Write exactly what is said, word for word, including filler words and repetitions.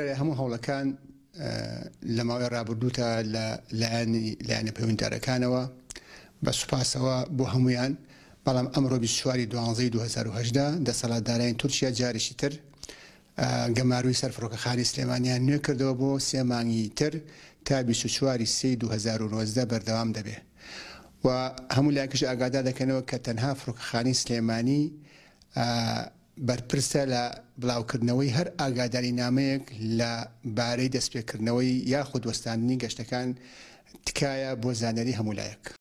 هەموو هەوڵەکان لە ماوەی ڕابردووتا لە لایەنی لایەنە پەیوەندیدارەکانەوە بە سوپاسەوە بۆ هەمویان، بەڵام ئەمڕۆ بیست و چوار ی دوانزەی دوو هەزار و هەژدە دەسەڵاتدارانی تورکیا جارێکی تر گەمارۆی سەر فڕۆکەخانەی سلێمانیان نوێ کردەوە بۆ سێ مانگی تر تا بیست و چوار ی سێی دوو هەزار و نۆزدە بەردەوام دەبێ و هەموو لایەکیش ئاگادار دەکەنەوە کە تەنها فڕۆکەخانەی سلێمانی بەرپرسە لە بڵاوکردنەوەی هەر ئاگادارینامەیەک لە بارەی دەستپێکردنەوەی یاخود وەستاندنی گەشتەکان. تکایە بۆ زانیاری هەموو لایەک.